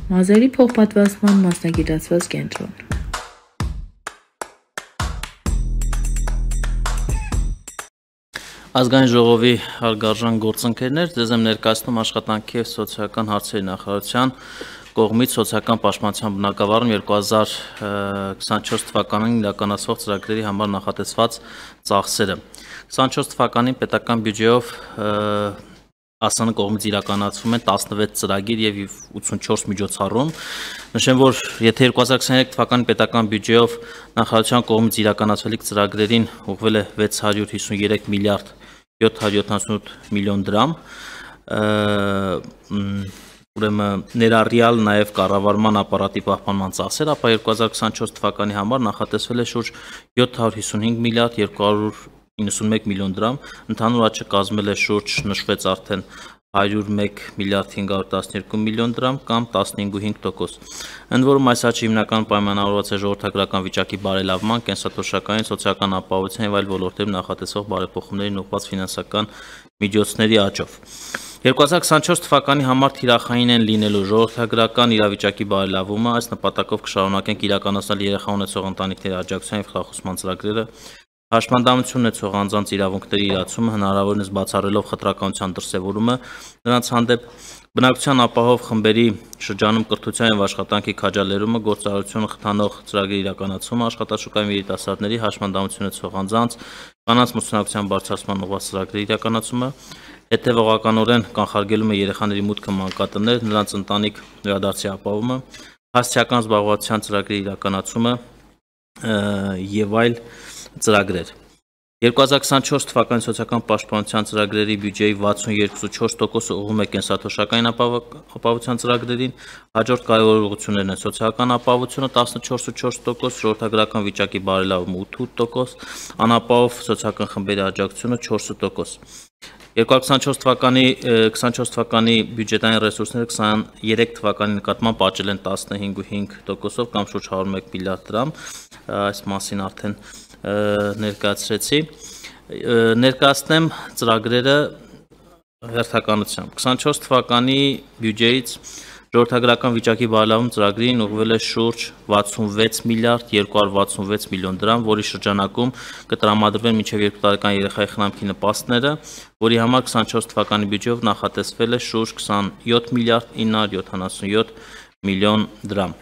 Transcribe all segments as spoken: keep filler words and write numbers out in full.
Մազերի փոխպատվաստման մասնագիտացված կենտրոն։ Ազգային ժողովի հարգարժան գործընկերներ, ձեզ եմ ներկայացնում աշխատանքի և սոցիալական հարցերի նախարարության կողմից սոցիալական պաշտպանության բնագավառում երկու հազար քսանչորս թվականին իրականացվող ծրագրերի համար նախատեսված ծախսերը։ քսանչորս թվականին պետական բյուջեով ԱՍՆ կողմից իրականացվում են տասնվեց ծրագիր և ութսունչորս միջոցառում։ Նշեմ, որ եթե երկու հազար քսաներեք թվականի պետական բյուջեով նախարարության կողմից իրականացվելիք ծրագրերին ուղղվել է վեց հարյուր հիսուներեք միլիարդ յոթ հարյուր յոթանասունութ միլիոն դրամ, ուրեմն ներառյալ նաև կառավարման ապարատի պահպանման ծախսեր, ապա երկու հազար քսանչորս թվականի համար նախատեսվել է շուրջ յոթ հարյուր հիսունհինգ միլիարդ երկու հարյուր իննսունմեկ միլիոն դրամ, ընդհանուր աճը կազմել է շուրջ նշվեց արդեն հարյուր մեկ միլիարդ հինգ հարյուր տասներկու միլիոն դրամ կամ տասնհինգ կόμμα հինգ տոկոս։ Ընդ որում այս աճը հիմնականում պայմանավորված է ժողովրդագրական վիճակի բարելավման, կենսաթոշակային, սոցիալական ապահովության և այլ ոլորտներում նախատեսվող բարեփոխումներին ուղղված ֆինանսական միջոցների աճով։ երկու հազար քսանչորս թվականի համար թիրախային են լինելու ժողովրդագրական իրավիճակի բարելավումը, այս նպատակով կշարունակենք իրականացնել երեխա ունեցող ընտանիքների աջակցության և խրախուսման ծրագրերը, հաշմանդամություն ունեցող անձանց իրավունքների իրացումը, հնարավորինս բացառելով խտրականության դրսևորումը նրանց հանդեպ, բնակչության ապահով խմբերի շրջանում կրթության և աշխատանքի քաջալերումը, գործարարությունը խթանող ծրագրերի իրականացումը, աշխատաշուկայում երիտասարդների, հաշմանդամություն ունեցող անձանց, կանանց մրցունակության բարձրացման ուղղված ծրագրերի իրականացումը, հետևողականորեն կանխարգելում է երեխաների մուտքը մանկատներ, նրանց ընտանիք վերադարձի ապահովումը, հասցեական զբաղվածության ծրագրերի իրականացումը և այլ ծրագրեր։ երկու հազար քսանչորս թվականի սոցիալական պաշտպանության ծրագրերի բյուջեի վաթսունյոթ կόμμα չորս տոկոսը ուղղվում է կենսաթոշակային ապահովության ծրագրերին, հաջորդ կարևոր ուղղություններն են սոցիալական ապահովությունը տասնչորս կόμma չորս տոկոս, ժողովրդագրական վիճակի բարելավումը ութ տոկոս, անապահով սոցիալական խմբերի աջակցությունը չորս տոկոս։ երկու հազար քսանչորս թվականի քսանչորս թվականի բյուջետային ռեսուրսները քսաներեք թվականի նկատմամբ աճել են տասնհինգ կόμma հինգ տոկոսով կամ շուրջ հարյուր մեկ միլիարդ դրամ, այս մասին արդեն ներկայացրեցի, ներկայացնեմ ծրագրերը հերթականությամբ։ քսանչորս թվականի բյուջեից ժողովրդագրական վիճակի բարելավում ծրագրին ուղղվել է շուրջ վաթսունվեց միլիարդ երկու հարյուր վաթսունվեց միլիոն դրամ, որի շրջանակում կտրամադրվեն մինչև երկու տարեկան երեխայի խնամքի նպաստները, որի համար քսանչորս թվականի բյուջեով նախատեսվել է շուրջ քսանյոթ միլիարդ ինը հարյուր յոթանասունյոթ միլիոն դրամ։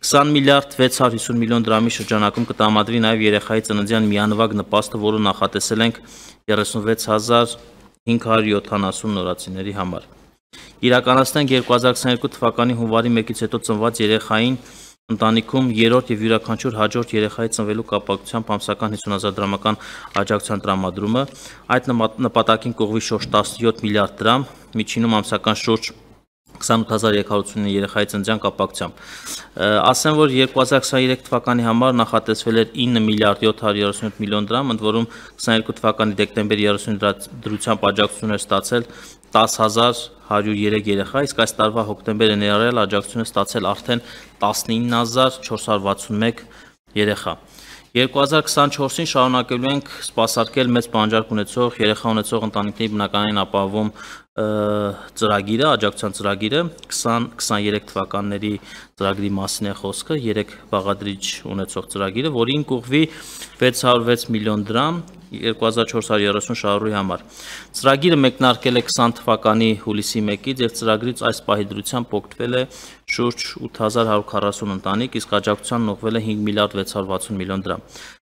քսան միլիարդ վեց հարյուր հիսուն միլիոն դրամի շրջանակում կտրամադրվի նաև երեխայի ծննդյան միանվագ նպաստը, որը նախատեսել ենք երեսունվեց հազար հինգ հարյուր յոթանասուն նորածինների համար։ Իրականացնենք երկու հազար քսաներկու թվականի հունվարի մեկից հետո ծնված երեխային ընտանիքում երրորդ և յուրաքանչյուր հաջորդ երեխայի ծնվելու կապակցությամբ ամսական հիսուն հազար դրամական աջակցության տրամադրումը, այդ նպատակին կուղղվի շուրջ տասնյոթ միլիարդ դրամ, միջինում ամսական շուրջ քսանութ հազար երեք հարյուր ութսուն երեխայի ծննդյան կապակցությամբ։ Ասեմ, որ երկու հազար քսաներեք թվականի համար նախատեսվել էր ինը միլիարդ յոթ հարյուր երեսունյոթ միլիոն դրամ, ընդ որում քսաներկու թվականի դեկտեմբերի երեսունին դրությամբ աջակցություն էր ստացել տասը հազար հարյուր երեք երեխա, իսկ այս տարվա հոկտեմբերը ներառյալ աջակցություն է ստացել արդեն տասնինը հազար չորս հարյուր վաթսունմեկ երեխա։ երկու հազար քսանչորսին շարունակելու ենք սպասարկել մեծ պահանջարկ ունեցող երեխա ունեցող ընտանիքների բնակարանային ապահովում ծրագիրը, աջակցության ծրագիրը, քսան քսաներեք թվականների ծրագրի մասին է խոսքը, երեք բաղադրիչ ունեցող ծրագիրը, որին կուղղվի վեց հարյուր վեց միլիոն դրամ երկու հազար չորս հարյուր երեսուն շահառուի համար։ Ծրագիրը մեկնարկել է քսան թվականի հուլիսի մեկից և ծրագրից այս պահի դրությամբ օգտվել է շուրջ ութ հազար հարյուր քառասուն ընտանիք, իսկ աջակցությանն ուղղվել է հինգ միլիարդ վեց հարյուր վաթսուն միլիոն դրամ։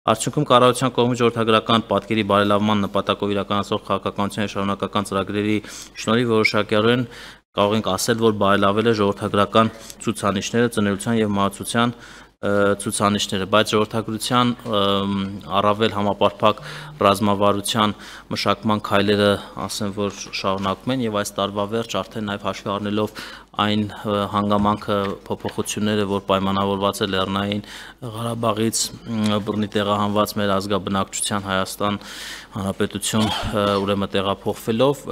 Արդյունքում կառավարության կողմից ժողովրդագրական պատկերի բարելավման նպատակով իրականացվող քաղաքականության և շարունակական ծրագրերի շնորհիվ որոշակիորեն կարող ենք ասել, որ բարելավել է ժողովրդագրական ցուցանիշները, ծնելիության և մահացության ցուցանիշները, բայց ժողովրդագրության առավել համապարփակ ռազմավարության մշակման քայլերը ասեմ, որ շարունակվում են և այս տարվա վերջ արդեն նաև հաշվի առնելով այն հանգամանքը փոփոխությունները, որ պայմանավորված է Լեռնային Ղարաբաղից բռնի տեղահանված մեր ազգաբնակչության Հայաստան Հանրապետություն ուրեմն տեղափոխվելով,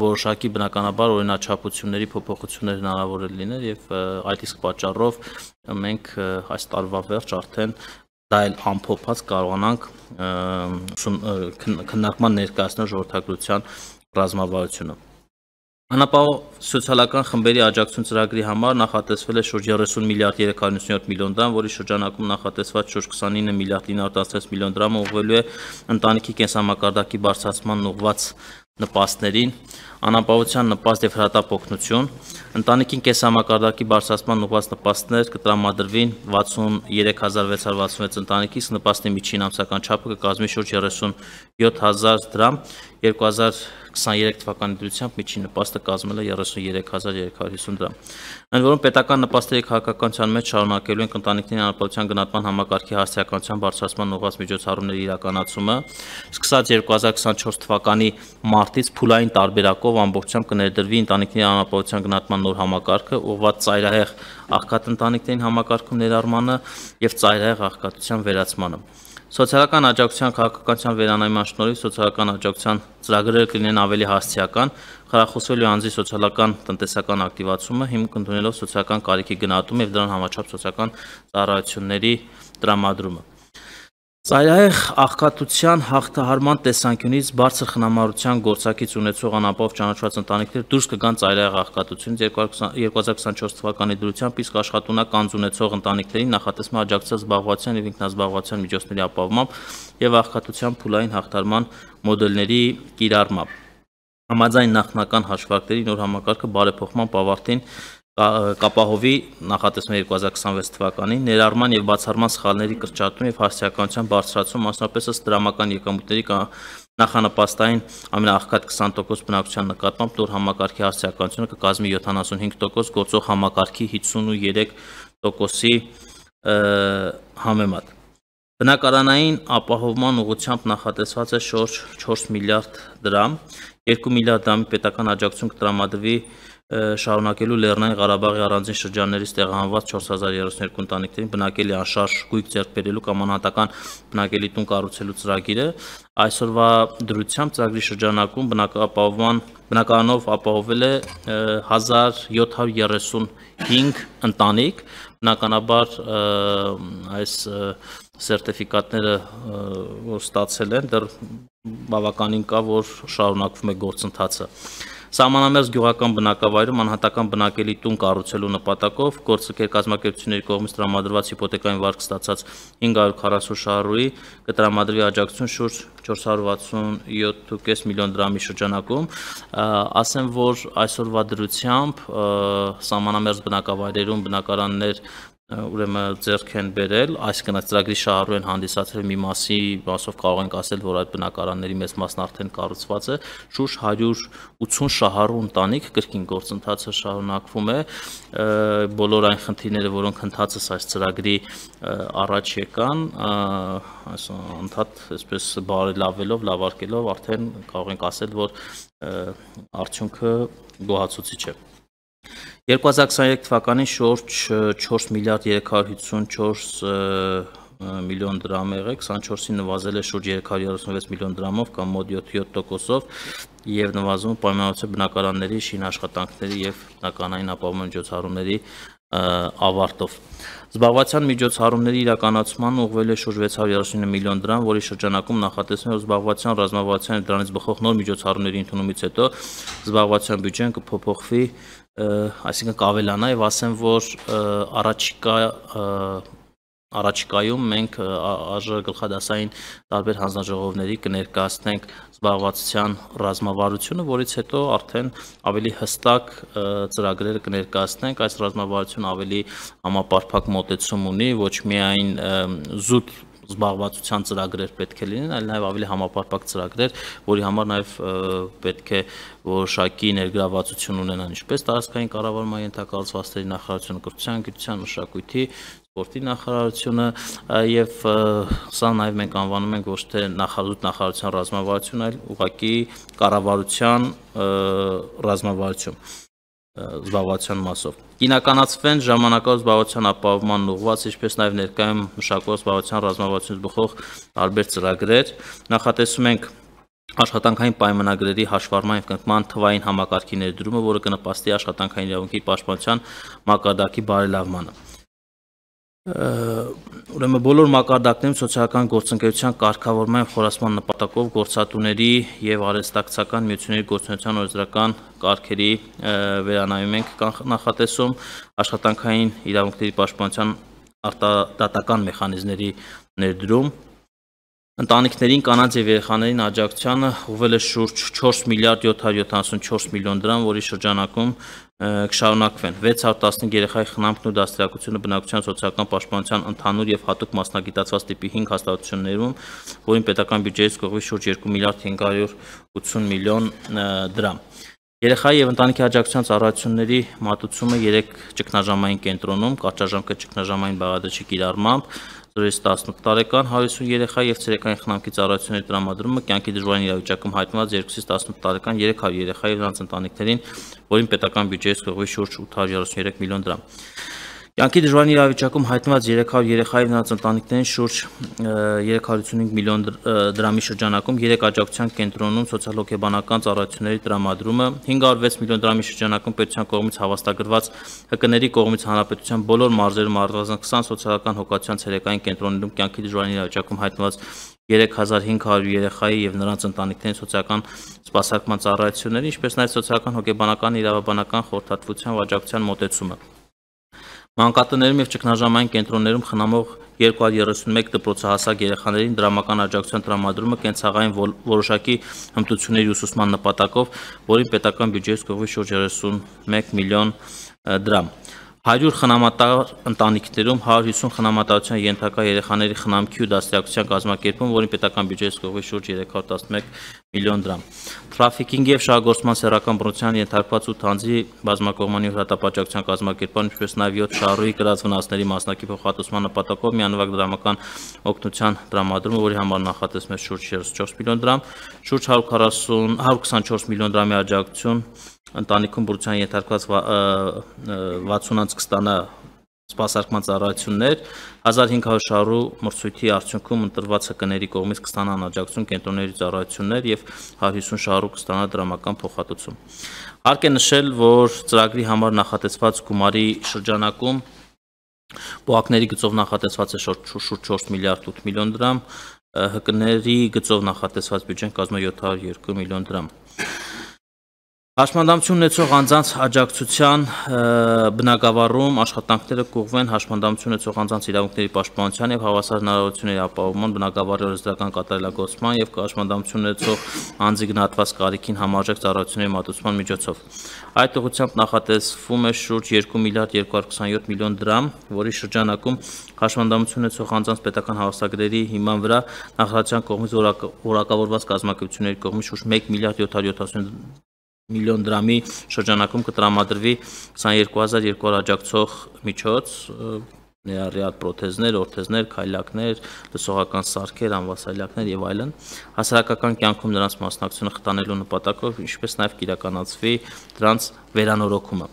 որոշակի բնականաբար օրինաչափությունների փոփոխություններ հնարավոր է լինել և այդ իսկ պատճառով մենք այս տարվա վերջ արդեն դա էլ ամփոփած կարողանանք քննարկման ներկայացնել ժողովրդագրության ռազմավարությունը։ Անապահով սոցիալական խմբերի աջակցություն ծրագրի համար նախատեսվել է շուրջ երեսուն միլիարդ երեք հարյուր նվաթ միլիոն դրամ, որի շրջանակում նախատեսված շուրջ քսանինը միլիարդ ինը հարյուր տասնվեց միլիոն դրամը ուղղվելու է ընտանիքի կենսամակարդակի բարձրացման ուղղված նպաստներին, անապահովության նպաստ եւ հրատապ օգնություն, ընտանիքին կենսամակարդակի բարձրացման ուղղված նպաստներ կտրամադրվին վաթսուներեք հազար վեց հարյուր վաթսունվեց ընտանիքի, նպաստի միջին ամսական չափը կկազմի շուրջ երեսուն յոթ հազար դրամ, երկու հազար քսաներեք թվականի դրությամբ միջին նպաստը կազմել է երեսուներեք հազար երեք հարյուր հիսուն դրամ։ Ընդ որում պետական նպաստերի քաղաքականության մեջ շարունակելու են ընտանիքների անապահովության գնահատման համակարգի հասարակության բարձրացման ուղղված միջոցառումների իրականացումը, սկսած երկու հազար քսանչորս թվականի մարտից փուլային տարբերակով ամբողջությամբ կներդրվի ընտանիքների անապահովության գնահատման նոր համակարգը, ուղղված ծայրահեղ աղքատ ընտանիքներին համակարգում ներառմանը եւ ծայրահեղ աղքատության վերացմանը։ Սոցիալական աջակցության քաղաքականության վերանայման շնորհիվ սոցիալական աջակցության ծրագրերը կլինեն ավելի հասցեական, խրախուսվելու անձի սոցիալական տնտեսական ակտիվացումը, հիմք ընդունելով սոցիալական կարիքի գնահատումը եւ դրան համաչափ սոցիալական ծառայությունների տրամադրումը։ Ծայրահեղ աղքատության հաղթահարման տեսանկյունից բարձր խնամարության գործակից ունեցող անապահով ճանաչված ընտանիքներ դուրս կգան ծայրահեղ աղքատությունից երկու հազար քսանչորս թվականի դրությամբ, իսկ աշխատունակ անձ ունեցող ընտանիքներին նախատեսվում է աջակցել զբաղվածության եւ ինքնազբաղվածության միջոցների ապահովմամբ եւ աղքատության փուլային հաղթահարման մոդելների կիրառմամբ։ Համաձայն նախնական հաշվարկների նոր համակարգը բարեփոխման ավարտին կապահովի նախատեսվում է երկու հազար քսանվեց թվականին ներառման եւ բացառման սխալների կրճատում եւ հասարակության բարձրացում, մասնապես ըստ դրամական եկամուտների նախանպաստային ամենաաղքատ քսան տոկոս բնակչության նկատմամբ նոր համակարգի հասարակությունը կկազմի յոթանասունհինգ տոկոս, գործող համակարգի հիսունուերեք տոկոսի համեմատ։ Բնակարանային ապահովման ուղղությամբ նախատեսված է շուրջ չորս միլիարդ դրամ, երկու միլիարդ դրամի պետական աջակցություն կտրամադրվի շարունակելու Լեռնային Ղարաբաղի առանձին շրջաններից տեղահանված չորս հազար երեսունյոթ բնակիչներին բնակելի անշարժ գույք ձեռք բերելու կամ անհատական բնակելի տուն կառուցելու ծրագիրը, այսօրվա դրությամբ ծրագրի շրջանակում բնակապահովման բնակարանով ապահովել է հազար յոթ հարյուր երեսունհինգ ընտանիք, բնականաբար այս սերտիֆիկատները որ ստացել են, դեռ բավականին կա, որ շարունակվում է գործընթացը։ Սահմանամերձ գյուղական բնակավայրում անհատական բնակելի տուն կառուցելու նպատակով գործընկեր կազմակերպությունների կողմից տրամադրված հիպոթեկային վարկ ստացած հինգ հարյուր քառասուն շահառուի կտրամադրվի աջակցություն շուրջ չորս հարյուր վաթսունյոթ տասնյոթ միլիոն դրամի շրջանակում, ասեմ, որ այսօրվա դրությամբ սահմանամերձ բնակավայրերում բնակարաններ ուրեմն ձեռք են բերել, այսինքն այս ծրագրի շահառու են հանդիսացել մի մասի մասով կարող ենք ասել, որ այդ բնակարանների մեծ մասն արդեն կառուցված է, շուրջ հարյուր ութուն շահառու ընտանիք կրկին գործընթացը շարունակվում է, բոլոր այն խնդիրները, որոնք ընդհանրապես այս ծրագրի առաջ եկան, այս ընդհանուր այսպես բարելավելով, լավարկելով արդեն կարող ենք ասել, որ արդյունքը գոհացուցիչ է։ երկու հազար քսաներեք թվականին շուրջ չորս միլիարդ երեք հարյուր հիսունչորս միլիոն դրամ եղել, քսանչորսին նվազել է շուրջ երեք հարյուր երեսունվեց միլիոն դրամով կամ մոտ յոթ տոկոսով եւ նվազում պայմանավորված բնակարանների շին աշխատանքների եւ բնականային ապահովման միջոցառումների ավարտով։ Զբաղվածության միջոցառումների իրականացման ուղղվել է շուրջ վեց հարյուր երեսունինը միլիոն դրամ, որի շրջանակում նախատեսվում է զբաղվածության, ռազմավարության եւ դրանից բխող նոր միջոցառումների ընդունումից հետո զբաղվածության բյուջեն կփոփոխվի, այսինքն կավելանա եւ ասեմ, որ առաջիկա առաջիկայում մենք ԱԺ գլխադասային տարբեր հանձնաժողովների կներկայացնենք զբաղվածության ռազմավարությունը, որից հետո արդեն ավելի հստակ ծրագրերը կներկայացնենք, այս ռազմավարությունը ավելի համապարփակ մոտեցում ունի, ոչ միայն զուտ զբաղվածության ծրագրեր պետք է լինեն, այլ նաև ավելի համապարփակ ծրագրեր, որի համար նաև պետք է որոշակի ներգրավվածություն ունենան ինչպես տարածքային կառավարման ենթակառուցվածքների նախարարությունը, կրթության, գիտության, մշակույթի, սպորտի նախարարությունը եւ սա նաև մենք անվանում ենք ոչ թե նախազուտ նախարարության ռազմավարություն, այլ ուղղակի կառավարության ռազմավարություն զբաղվածության մասով։ Կինականացվեն ժամանակավոր զբաղվածության ապահովման ուղղված, ինչպես նաև ներկայում մշակվող զբաղվածության ռազմավարությունից բխող տարբեր ծրագրեր, նախատեսում ենք աշխատանքային պայմանագրերի հաշվառման եւ կնքման թվային համակարգի ներդրումը, որը կնպաստի աշխատանքային իրավունքի պաշտպանության մակարդակի բարելավմանը։ Ուրեմն բոլոր մակարդակներում սոցիալական գործընկերության կարգավորման եւ խորացման նպատակով գործատուների եւ արհեստակցական միությունների գործունեության օրենսդրական կարգերի վերանայում ենք նախատեսում, աշխատանքային իրավունքների պաշտպանության արտադատական մեխանիզմների ներդրում, ընտանիքներին, կանանց եւ երեխաներին աջակցությանը ուղղվել է շուրջ չորս միլիարդ յոթ հարյուր յոթանասունչորս միլիոն դրամ, որի շրջանակում կշարունակվեն վեց հարյուր տասնհինգ երեխայի խնամքն ու դաստիարակությունը բնակչության սոցիալական պաշտպանության ընդհանուր եւ հատուկ մասնագիտացված տիպի հինգ հաստատություններում, որին պետական բյուջեից կողմի շուրջ երկու միլիարդ հինգ հարյուր ութսուն միլիոն դրամ։ Երեխայի եւ ընտանիքի աջակցության ծառայությունների մատուցումը երեք ճգնաժամային կենտրոնում, կարճաժամկետ ճգնաժամային բաղադրիչի կիրառմամբ զրոյից տասնութ տարեկան հարյուր հիսուն երեխա եւ ցերեկային խնամքի ծառայությունների տրամադրումը կյանքի դժվարին իրավիճակում հայտնված երկուսից տասնութ տարեկան երեք հարյուր երեխա եւ նրանց ընտանիքներին, որին պետական բյուջեից կողմի շուրջ ութ հարյուր երեսուններեք միլիոն դրամ։ Կյանքի դժվարին իրավիճակում հայտնված երեք հարյուր երեխա եւ նրանց ընտանիքներին շուրջ երեք հարյուր ութսունհինգ միլիոն դրամի շրջանակում երեք աջակցության կենտրոնում սոցիալ-հոգեբանական ծառայությունների տրամադրումը, հինգ հարյուր վեց միլիոն դրամի շրջանակում պետության կողմից հավաստագրված ՀԿ-ների կողմից հանրապետության բոլոր մարզերում առնվազն քսան սոցիալական հոգացության ցերեկային կենտրոններում կյանքի դժվարին իրավիճակում հայտնված երեք հազար հինգ հարյուր երեխայի եւ նրանց ընտանիքներին սոցիալական սպասարկման ծառայությունների, ինչպես նաեւ սոցիալական հոգեբանական իրավաբանական խորհրդատվության ու աջակցության մոտեցումը։ Մանկատներում եւ ճգնաժամային կենտրոններում խնամող երկու հարյուր երեսունմեկ դպրոցահասակ երեխաներին դրամական աջակցության տրամադրումը կենցաղային որոշակի հմտությունների ուսուցման նպատակով, որին պետական բյուջեից կողմի շուրջ երեսունմեկ միլիոն դրամ։ հարյուր խնամատար ընտանիքներում հարյուր հիսուն խնամատարության ենթակա երեխաների խնամքի ու դաստիարակության կազմակերպում, որին պետական բյուջեից կողմի շուրջ երեք հարյուր տասնմեկ միլիոն դրամ։ Թրաֆիքինգի եւ շահագործման սեռական բռնության ենթարկված ութ անձի բազմակողմանի հրատապաջակցության կազմակերպման, ինչպես նաեւ յոթ շահառուի կրած վնասների մասնակի փոխհատուցման նպատակով միանվագ դրամական օգնության տրամադրումը, որի համար նախատեսվում է շուրջ երեսունչորս միլիոն դրամ, շուրջ հարյուր քառասուն հարյուր քսանչորս միլիոն դրամի աջակցություն ընտանիքում բռնության ենթարկված վաթսուն անձ կստանա սպասարկման ծառայություններ, հազար հինգ հարյուր շահառու մրցույթի արդյունքում ընտրված ՀԿ-ների կողմից կստանան աջակցություն կենտրոնների ծառայություններ եւ հարյուր հիսուն շահառու կստանա դրամական փոխհատուցում։ Հարկ է նշել, որ ծրագրի համար նախատեսված գումարի շրջանակում ՊՕԱԿ-ների գծով նախատեսված է շուրջ չորս միլիարդ ութ միլիոն դրամ, ՀԿ-ների գծով նախատեսված բյուջեն կազմում է յոթ հարյուր երկու միլիոն դրամ։ Հաշմանդամություն ունեցող անձանց աջակցության բնագավառում աշխատանքները կուղղվեն հաշմանդամություն ունեցող անձանց իրավունքների պաշտպանության եւ հավասար հնարավորությունների ապահովման բնագավառի օրենսդրական կատարելագործման եւ հաշմանդամություն ունեցող անձի գնահատված կարիքին համարժեք ծառայությունների մատուցման միջոցով։ Այդ ուղղությամբ նախատեսվում է շուրջ երկու միլիարդ երկու հարյուր քսանյոթ միլիոն դրամ, որի շրջանակում հաշմանդամություն ունեցող անձանց պետական հավաստագրերի հիման վրա նախարարության կողմից որակավորված կազմակերպությունների կողմից շուրջ մեկ միլիարդ յոթ հարյուր յոթանասուն միլիոն դրամի շրջանակում կտրամադրվի քսաներկու հազար երկու հարյուր աջակցող միջոց, ներառյալ պրոթեզներ, օրթեզներ, քայլակներ, լսողական սարքեր, անվասայլակներ եւ այլն, հասարակական կյանքում նրանց մասնակցությունը խթանելու նպատակով, ինչպես նաեւ կիրականացվի դրանց վերանորոգումը։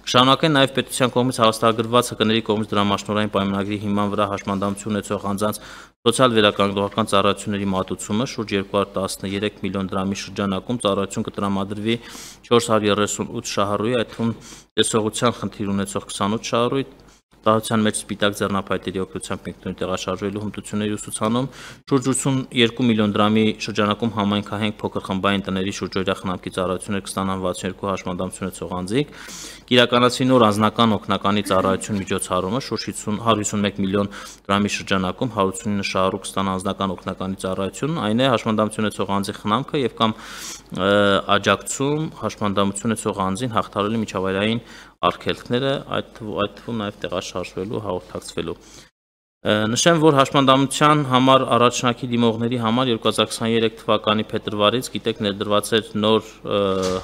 Կշարունակեն նաեւ պետության կողմից հավաստագրված ՀԿ-ների կողմից դրամաշնորհային պայմանագրի հիման վրա հաշմանդամություն ունեցող անձանց սոցիալ վերականգնողական ծառայությունների մատուցումը շուրջ երկու հարյուր տասներեք միլիոն դրամի շրջանակում ծառայություն կտրամադրվի չորս հարյուր երեսունութ շահառուի, այդ թվում տեսողության խնդիր ունեցող քսանութ շահառուի, տարածության մեջ սպիտակ ձեռնափայտերի օգնությամբ ինքնուրույն տեղաշարժվելու հմտությունների ուսուցանում, շուրջ ութսունյերկու միլիոն դրամի շրջանակում համայնքահենք փոքր խմբային տների շուրջօրյա խնամքի ծառայություններ կստանան վաթսունյերկու հաշմանդամություն ունեցող անձիկ, կիրականացվի նոր անձնական օգնականի ծառայություն միջոցառումը շուրջ հարյուր հիսունմեկ միլիոն դրամի շրջանակում հարյուր ութսունինը շահառու կստանա անձնական օգնականի ծառայություն, այն է հաշմանդամություն ունեցող անձի խնամքը եւ կամ աջակցում հաշմանդամություն ունեցող անձին հաղթահարելու միջավայրային արգելքները, այդ թվում նաև տեղաշարժվելու, հաղորդակցվելու։ Նշեմ, որ հաշմանդամության համար առաջնակի դիմողների համար երկու հազար քսաներեք թվականի փետրվարից գիտեք ներդրված էր նոր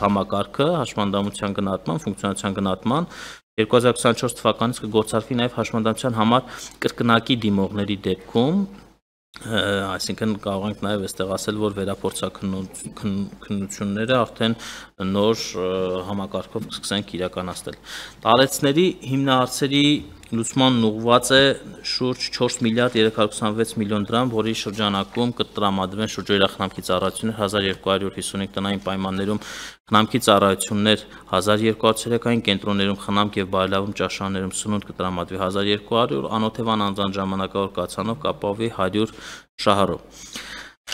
համակարգը հաշմանդամության գնահատման, ֆունկցիոնալության գնահատման, երկու հազար քսանչորս թվականից կգործարկվի նաև հաշմանդամության համար կրկնակի դիմողների դեպքում, այսինքն կարող ենք նաև այստեղ ասել, որ վերափորձաքննությունները արդեն նոր համակարգով կսկսենք իրականացնել։ Տարեցների հիմնահարցերի լուծման ուղղված է շուրջ չորս միլիարդ երեք հարյուր ութանվեց միլիոն դրամ, որի շրջանակում կտրամադրվեն շուրջօրյա խնամքի ծառայություններ հազար երկու հարյուր հիսունհինգ տնային պայմաններում խնամքի ծառայություններ հազար երկու հարյուր ցերեկային կենտրոններում խնամք եւ բարելավում ճաշարաններում սնունդ կտրամադրվի հազար երկու հարյուր, անօթևան անձանց ժամանակավոր կացանով կապավի հարյուր շահառով։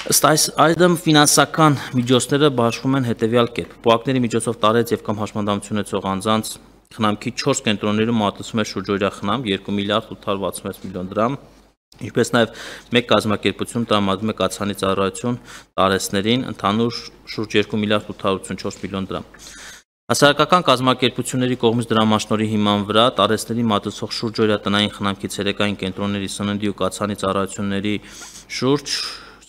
Ըստ այդմ ֆինանսական միջոցները բաշխվում են հետևյալ կերպ. Պոակների միջոցով տարեց եւ կամ հաշմանդամություն ունեցող անձանց խնամքի չորս կենտրոններում մատուցվում է շուրջօրյա խնամք երկու միլիարդ ութ հարյուր վաթսունվեց միլիոն դրամ, ինչպես նաեւ մեկ կազմակերպություն տրամադրում է կացանի ծառայություն տարեցներին ընդհանուր շուրջ երկու միլիարդ ութ հարյուր ութսունչորս միլիոն դրամ։ Հասարակական կազմակերպությունների կողմից դրամաշնորհի հիման վրա տարեցների մատուցող շուրջօրյա տնային խնամքի ցերեկային կենտրոնների սննդի ու կացանի ծառայությունների շուրջ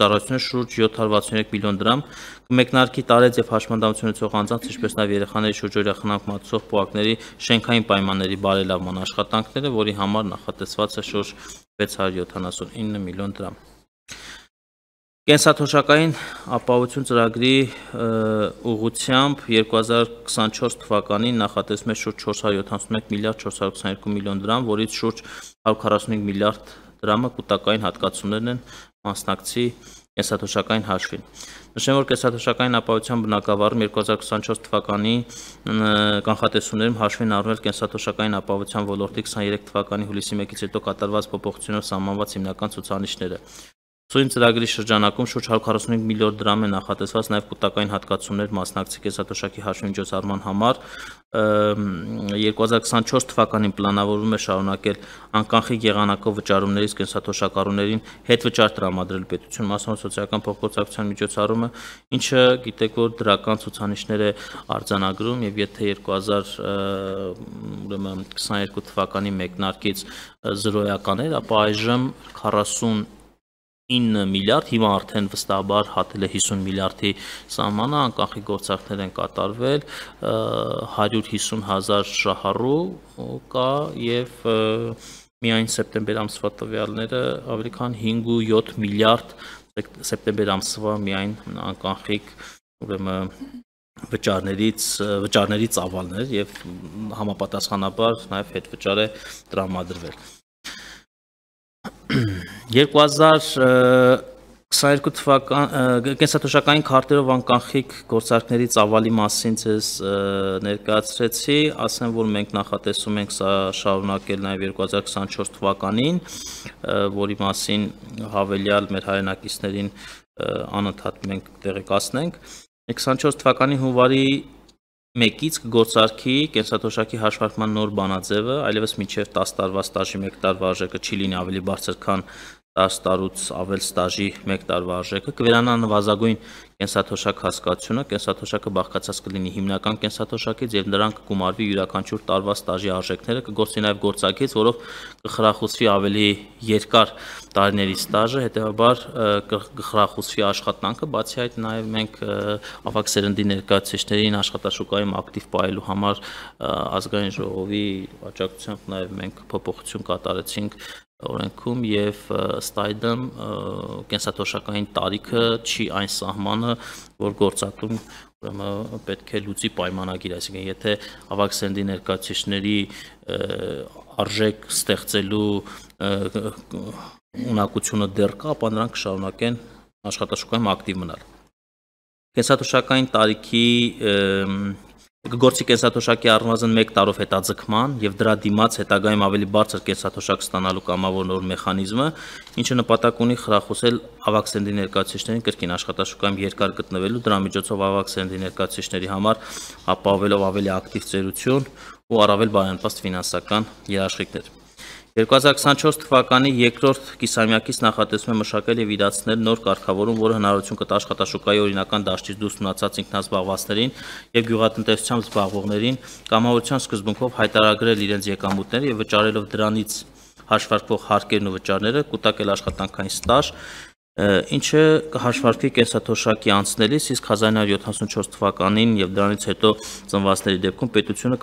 ծառայությունների շուրջ յոթ հարյուր վաթսունյոթ միլիոն դրամ կմեկնարկի տարեց եւ հաշմանդամություն ունեցող անձանց, ինչպես նաեւ երեխաների շուրջօրյա խնամք մատուցող պոակների շենքային պայմանների բարելավման աշխատանքները, որի համար նախատեսված է շուրջ վեց հարյուր յոթանասունինը միլիոն դրամ։ Կենսաթոշակային ապահովություն ծրագրի ուղղությամբ երկու հազար քսանչորս թվականին նախատեսվում է շուրջ չորս հարյուր յոթանասունմեկ միլիարդ չորս հարյուր քսաներկու միլիոն դրամ, որից շուրջ հարյուր քառասունհինգ միլիարդ դրամը կൂട്ടակային հատկացումներն են մասնակցի կենսաթոշակային հաշվին։ Նշեմ, որ կենսաթոշակային ապահովության բնագավառում երկու հազար քսանչորս թվականի կանխատեսումներում հաշվին առնել կենսաթոշակային ապահովության ոլորտի քսաներեք թվականի հուլիսի մեկից հետո կատարված փոփոխություններով սահմանված հիմնական ցուցանիշները։ Սույն ծրագրի շրջանակում շուրջ հարյուր քառասունհինգ միլիոն դրամ է նախատեսված նաև կൂട്ടակային հատկացումներ մասնակցի կենսաթոշակի հաշվի միջոցառման համար։ երկու հազար քսանչորս թվականին պլանավորվում է շարունակել անկանխիկ եղանակով վճարումներից կենսաթոշակառուներին հետվճար տրամադրել պետություն մասնավոր սոցիալական փոխգործակցության միջոցառումը, ինչը գիտեք, որ դրական ցուցանիշներ է արձանագրում եւ եթե երկու հազար քսաներկու թվականի մեկնարկից զրոյական էր, ապա այժմ քառասուն ինը միլիարդ, հիմա արդեն վստահաբար հատել է հիսուն միլիարդի սահմանը, անկանխիկ գործարքներ են կատարվել, հարյուր հիսուն հազար շահառու կա եւ միայն սեպտեմբեր ամսվա տվյալները ավելի քան հինգ ու յոթ միլիարդ սեպտեմբեր ամսվա միայն անկանխիկ ուրեմն վճարներից վճարների ծավալներ եւ համապատասխանաբար նաեւ հետվճար է տրամադրվել։ երկու հազար քսաներկու թվական կենսաթոշակային քարտերով անկանխիկ գործարքների ծավալի մասին ձեզ ներկայացրեցի, ասեմ, որ մենք նախատեսում ենք սա շարունակել նաև երկու հազար քսանչորս թվականին, որի մասին հավելյալ մեր հայրենակիցներին անընդհատ մենք տեղեկացնենք։ քսանչորս թվականի հունվարի մեկից կգործարկի կենսաթոշակի հաշվարկման նոր բանաձևը, այլևս մինչև տասը տարվա ստաժի մեկ տարվա արժեքը չի լինի ավելի բարձր, քան տասը տարուց ավել ստաժի մեկ տարվա արժեքը, կվերանա նվազագույն կենսաթոշակ հասկացությունը, կենսաթոշակը բաղկացած կլինի հիմնական կենսաթոշակից եւ նրան կգումարվի յուրաքանչյուր տարվա ստաժի արժեքները, կգործի նաեւ գործակից, որով կխրախուսվի ավելի երկար տարիների ստաժը, հետեւաբար կխրախուսվի աշխատանքը, բացի այդ նաեւ մենք ավագ սերնդի ներկայացուցիչներին աշխատաշուկայում ակտիվ պահելու համար ազգային ժողովի աջակցությամբ նաեւ մենք փոփոխություն կատարեցինք օրենքում եւ ըստ այդմ կենսաթոշակային տարիքը չի այն սահմանը, որ գործատում ուրեմն պետք է լուծի պայմանագիր, այսինքն եթե ավագ սերնդի ներկայացուցիչների արժեք ստեղծելու ունակությունը դեռ կա, ապա նրանք կշարունակեն աշխատաշուկայում ակտիվ մնալ։ Կենսաթոշակային տարիքի կգործի կենսաթոշակի առնվազն մեկ տարով հետաձգման եւ դրա դիմաց հետագայում ավելի բարձր կենսաթոշակ ստանալու կամավոր նոր մեխանիզմը, ինչը նպատակ ունի խրախուսել ավագ սերնդի ներկայացուցիչներին կրկին աշխատաշուկայում երկար գտնվելու, դրա միջոցով ավագ սերնդի ներկայացուցիչների համար ապահովելով ավելի ակտիվ ծերություն ու առավել բարենպաստ ֆինանսական երաշխիքներ։ երկու հազար քսանչորս թվականի երկրորդ կիսամյակից նախատեսվում է մշակել եւ իրացնել նոր կարգավորում, որը հնարավորություն կտա աշխատաշուկայի օրինական դաշտից դուրս մնացած ինքնազբաղվածներին եւ գյուղատնտեսությամբ զբաղվողներին կամավորության սկզբունքով հայտարարել իրենց եկամուտները եւ վճարելով դրանից հաշվարկվող հարկերն ու վճարները, կուտակել աշխատանքային ստաժ, ինչը կհաշվարկվի կենսաթոշակի անցնելիս, իսկ հազար նույնսուն յոթանասունչորս թվականին եւ դրանից հետո ծնվածների դեպքում պետությունը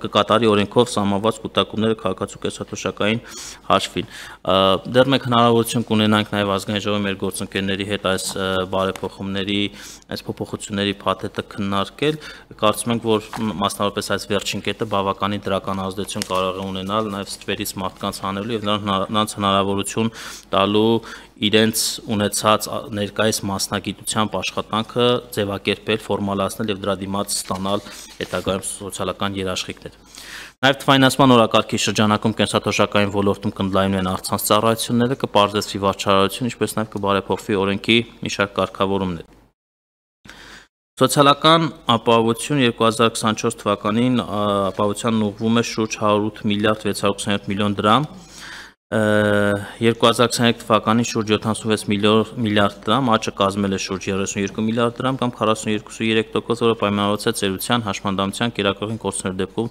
կկատարի օրենքով սահմանված կուտակումները քաղաքացու կենսաթոշակային հաշվին։ Դեռ մենք հնարավորություն կունենանք նաեւ ազգային ժողովի մեր գործընկերների հետ այս բարեփոխումների, այս փոփոխությունների փաթեթը քննարկել, կարծում ենք, որ մասնավորապես այս վերջին կետը բավականին դրական ազդեցություն կարող է ունենալ նաեւ ստվերից մարդկանց հանելու եւ նրանց հնարավորություն տալու իրենց ունեցած ներկայիս մասնագիտությամբ աշխատանքը ձևակերպել, ֆորմալացնել եւ դրա դիմաց ստանալ հետագայում սոցիալական երաշխիքներ։ Նաեւ թվայնացման օրակարգի շրջանակում կենսաթոշակային ոլորտում կընդլայնվեն առցանց ծառայությունները, կպարզեցվի վարչարարություն, ինչպես նաեւ կբարեփոխվի օրենքի մի շարք կարգավորումներ։ Սոցիալական ապահովություն երկու հազար քսանչորս թվականին ապահովությանն ուղղվում է շուրջ հարյուր ութ միլիարդ վեց հարյուր քսաներորդ միլիոն դրամ, երկու հազար քսաներեք թվականին շուրջ յոթանասունվեց միլիարդ դրամ, աճը կազմել է շուրջ երեսունյոթ միլիարդ դրամ կամ քառասունյոթ կόμμα երեք տոկոս, որը պայմանավորված է ծերության, հաշմանդամության, կերակրվին կորցնելու դեպքում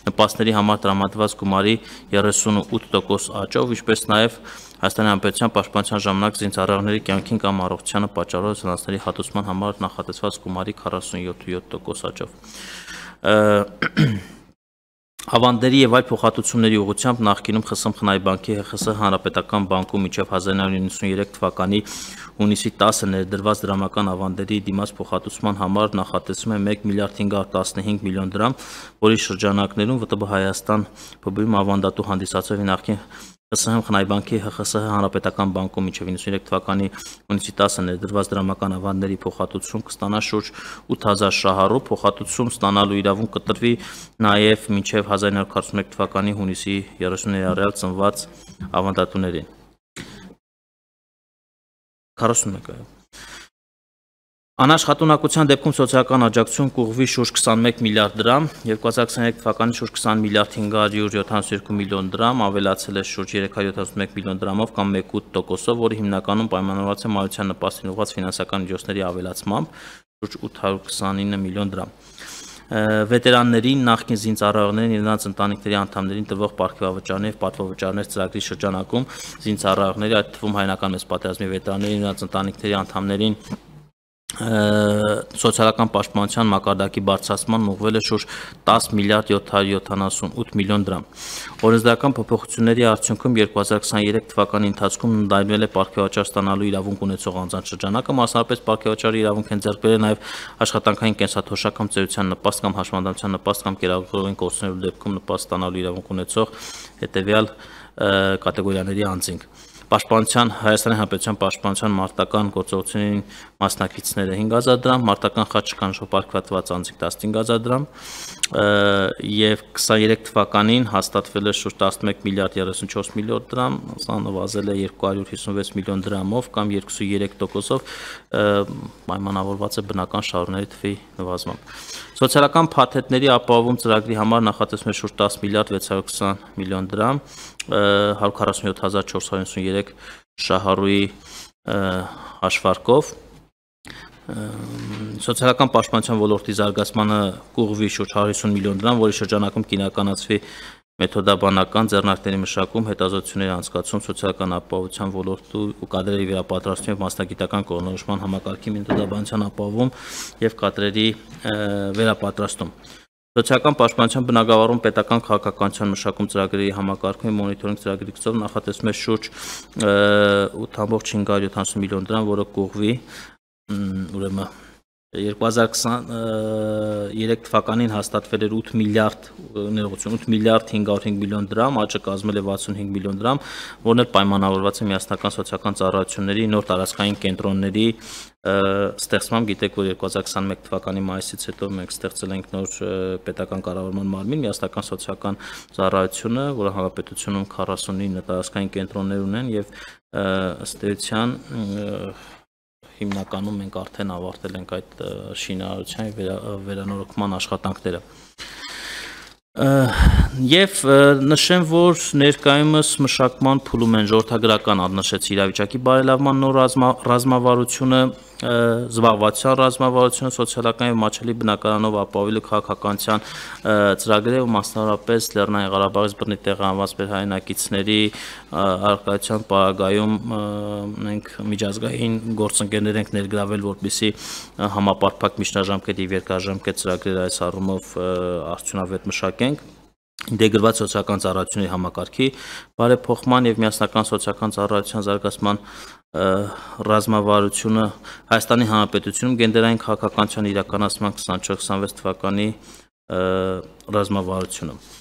նպաստների համար տրամադրված գումարի երեսունութ տոկոս աճով, ինչպես նաև Հայաստանի Հանրապետության պաշտպանության ժամանակ զինծառայողների կյանքին կամ առողջությանը պատճառող վնասների հատուցման համար նախատեսված գումարի քառասունյոթ տոկոս աճով։ Ավանդերի եւ այլ փոխհատուցումների ուղղությամբ նախկինում ԽՍՀՄ խնայ բանկի ՀԽՍՀ Հանրապետական բանկում մինչեւ հազար նույնսուն նվաթ թվականի հունիսի տասը ներդրված դրամական ավանդերի դիմաց փոխհատուցման համար նախատեսվում է մեկ միլիարդ հինգ հարյուր տասնհինգ միլիոն դրամ, որի շրջանակներում ՎՏԲ Հայաստան ՓԲ-ի ավանդատու հանդիսացող նախկին ԽՍՀՄ խնայ բանկի ՀԽՍՀ Հանրապետական բանկում մինչև նվաթ թվականի հունիսի տասը ներդրված դրամական ավանդների փոխհատուցում կստանա շուրջ ութ հազար շահառու, փոխհատուցում ստանալու իրավունք կտրվի նաև մինչև հազար նույնսուն քառասունմեկ թվականի հունիսի երեսունի առյալ ծնված ավանդատուներին։ քառասունմեկ Անաշխատունակության դեպքում սոցիալական աջակցություն կուղղվի շուրջ քսանմեկ միլիարդ դրամ, երկու հազար քսաներեք թվականին շուրջ քսան միլիարդ հինգ հարյուր յոթանասունյոթ միլիոն դրամ, ավելացել է շուրջ երեք հարյուր յոթանասունմեկ միլիոն դրամով կամ մեկ կόμμα ութ տոկոսով, որը հիմնականում պայմանավորված է մայրության նպաստին ուղղված ֆինանսական միջոցների ավելացմամբ, շուրջ ութ հարյուր քսանինը միլիոն դրամ։ Վետերաններին, նախկին զինծառայողներին եւ նրանց ընտանիքների անդամներին տրվող պարգևավճարներ եւ պատվովճարներ ծրագրի շրջանակում զինծառայողների, այդ թվում հայնական մեծ պատերազմի վետերաններին, նրանց ընտանիքների անդամներին սոցիալական պաշտպանության մակարդակի բարձրացման ուղղվել է շուրջ տասը միլիարդ յոթ հարյուր յոթանասունութ միլիոն դրամ։ Օրենսդրական փոփոխությունների արդյունքում երկու հազար քսաներեք թվականի ընթացքում ընդլայնվել է պարգևաճար ստանալու իրավունք ունեցող անձանց շրջանակը, մասնավորապես պարգևաճարի իրավունք են ձեռք բերել նաև աշխատանքային կենսաթոշակ կամ ծերության նպաստ կամ հաշմանդամության նպաստ կամ կերակրվին կորցնելու դեպքում նպաստ ստանալու իրավունք ունեցող հետևյալ կատեգորիաների անձինք։ Պաշտպանության Հայաստանի Հանրապետության պաշտպանության մարտական գործողություններին մասնակիցները հինգ հազար դրամ, մարտական խաչ կանչով պարգևատված անձինք տասնհինգ հազար դրամ եւ քսաներեք թվականին հաստատվել է շուրջ տասնմեկ միլիարդ երեսունչորս միլիոն դրամ, սա նվազել է երկու հարյուր հիսունվեց միլիոն դրամով կամ երկուսուներեք տոկոսով, պայմանավորված է բնական շահառուների թվի նվազմամբ։ Սոցիալական փաթեթների ապահովում ծրագրի համար նախատեսվում է շուրջ տասը միլիարդ վեց հարյուր քսան միլիոն դրամ, հարյուր քառասունյոթ հազար չորս հարյուր հիսուներեք շահառուի հաշվարկով։ Սոցիալական պաշտպանության ոլորտի զարգացմանը կուղղվի շուրջ հարյուր հիսուն միլիոն դրամ, որի շրջանակում կիրականացվի մեթոդաբանական ձեռնարկների մշակում, հետազոտությունների անցկացում, սոցիալական ապահովության ոլորտի ու կադրերի վերապատրաստում եւ մասնագիտական կողմնորոշման համակարգի մեթոդաբանության ապահովում եւ կադրերի վերապատրաստում։ Սոցիալական պաշտպանության բնագավառում պետական քաղաքականության մշակում ծրագրերի համակարգում մոնիթորինգ ծրագրի գծով նախատեսվում է շուրջ ութ հարյուր յոթանասուն միլիոն դրամ, որը կուղղվի ուրեմն երկու հազար քսաներեք թվականին հաստատվել էր ութ միլիարդ ներողություն ութ միլիարդ հինգ հարյուր հինգ միլիոն դրամ, աճը կազմել է վաթսունհինգ միլիոն դրամ, որն էլ պայմանավորված է միասնական սոցիալական ծառայությունների նոր տարածքային կենտրոնների ստեղծմամբ։ Գիտեք, որ երկու հազար քսանմեկ թվականի մայիսից հետո մենք ստեղծել ենք նոր պետական կառավարման մարմին, միասնական սոցիալական ծառայությունը, որը հանրապետությունում քառասունինը տարածքային կենտրոններ ունեն եւ ըստ էության հիմնականում մենք արդեն ավարտել ենք այդ շինարարության վերանորոգման աշխատանքները։ Եվ նշեմ, որ ներկայումս մշակման փուլում են ժողովրդագրական, նշեցի իրավիճակի բարելավման նոր ռազմավարությունը, զբաղվածության ռազմավարությունը, սոցիալական եւ մատչելի բնակարանով ապահովելու քաղաքականության ծրագրերը ու մասնավորապես Լեռնային Ղարաբաղից բռնի տեղահանված մեր հայրենակիցների առկայության պարագայում մենք միջազգային գործընկերներ ենք ներգրավել, որպեսզի համապարփակ միջնաժամկետ եւ երկարաժամկետ ծրագրեր այս առումով արդյունավետ մշակենք։ Ինտեգրված սոցիալական ծառայությունների համակարգի բարեփոխման եւ միասնական սոցիալական ծառայության զարգացման ռազմավարությունը Հայաստանի Հանրապետությունում գենդերային քաղաքականության իրականացման քսանչորս քսանվեց թվականի ռազմավարությունը